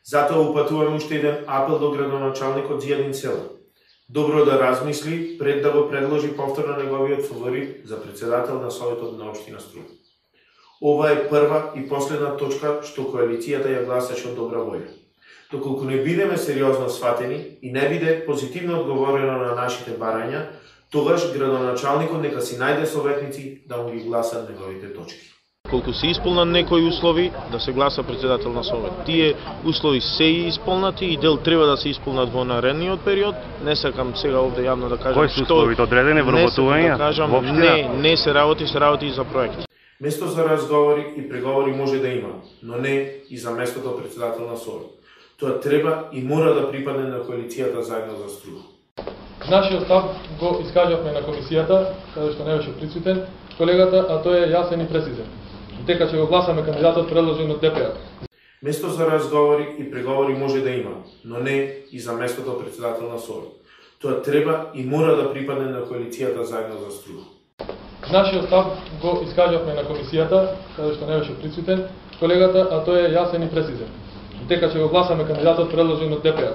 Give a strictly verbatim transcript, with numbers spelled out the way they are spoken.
Затоа упатуваме уште еден апел до градоначалникот Зијадин Села. Добро да размисли пред да го предложи повторно неговиот фаворит за председател на Советот на општина Струја. Ова е прва и последна точка што коалицијата ја гласаше од добра воља. Доколку не бидеме сериозно сватени и не биде позитивно одговорено на нашите барања, тогаш градоначалникот нека си најде советници да му ги гласат неговите точки. Колку се исполнат некои услови да се гласа председател на Совет. Тие услови се исполнати и дел треба да се исполнат во наредниот период. Не сакам сега овде јавно да кажам кои се условите одредени вработување. Да кажам, не, не се работи, се работи за проекти. Место за разговори и преговори може да има, но не и за местото председател на Совет. Тоа треба и мора да припадне на коалицијата заедно за Струја. Нашиот став го искажавме на комисијата, каде што не беше присутен колегата, а тој е јасен и прецизен. Дека ќе го гласаме кандидатот предложен од Д П А. Место за разговори и преговори може да има, но не и за местото председател на Совет. Тоа треба и мора да припадне на коалицијата заедно за Струја. Нашиот став го искажавме на комисијата, каде што не беше присутен колегата, а тој е јасен и прецизен. Дека ќе го гласаме кандидатот предложен од Д П А.